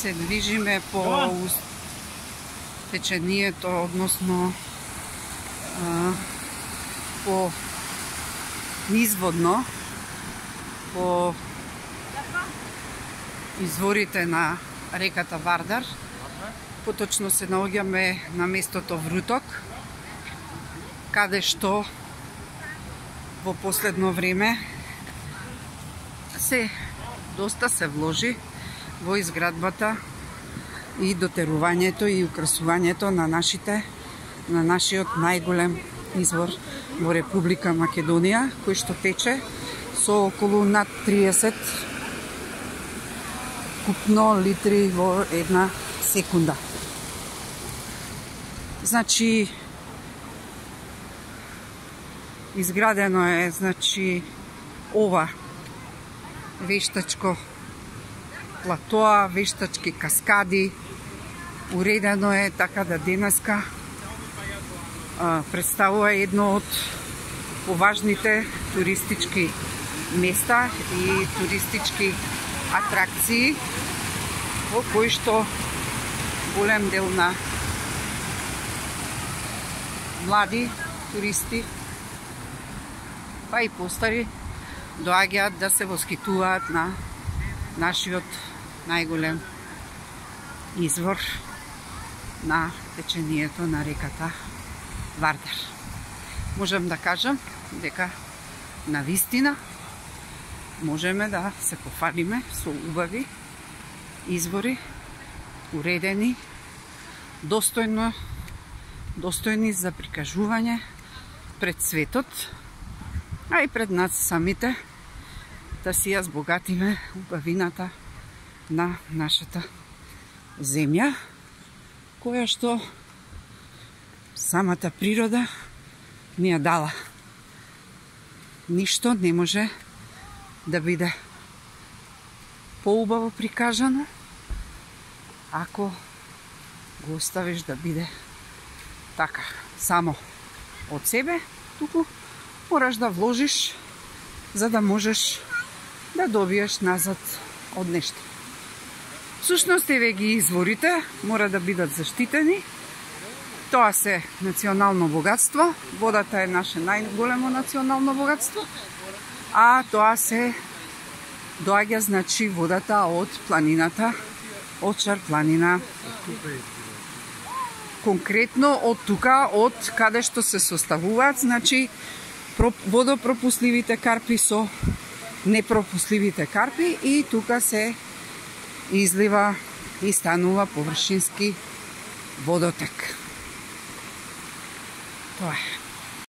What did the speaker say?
се движиме по течението, односно по низводно, по изворите на реката Вардар. Поточно се наоѓаме на местото Вруток, каде што во последно време доста се вложи во изградбата и дотерувањето и украсувањето на нашиот најголем извор во Република Македонија, кој што тече со околу над 30 купно литри во една секунда. Значи, изградено е ова вештачко платоа, вештачки каскади, уредено е така да денеска представува едно од поважните туристички места и туристички атракции во кои што голем дел на млади туристи, па и постари, доаѓаат да се воскитуваат на нашиот најголем извор на течението на реката Вардар. Можем да кажам дека навистина можеме да се пофалиме со убави извори, уредени, достојни за прикажување пред светот, а и пред нас самите, да си ја збогатиме убавината на нашата земја, која што самата природа ни ја дала. Ништо не може да биде поубаво прикажано ако го оставиш да биде така, само од себе, туку мораш да вложиш за да можеш да добиеш назад од нешто. Всушност, еве ги изворите, мора да бидат заштитени. Тоа се национално богатство, водата е наше најголемо национално богатство, а тоа се доаѓа, водата од планината, од Шар планина. Конкретно од тука, од каде што се составуваат, водопропусливите карпи со непропусливите карпи, и тука се излива и станува површински водотек. Тоа е.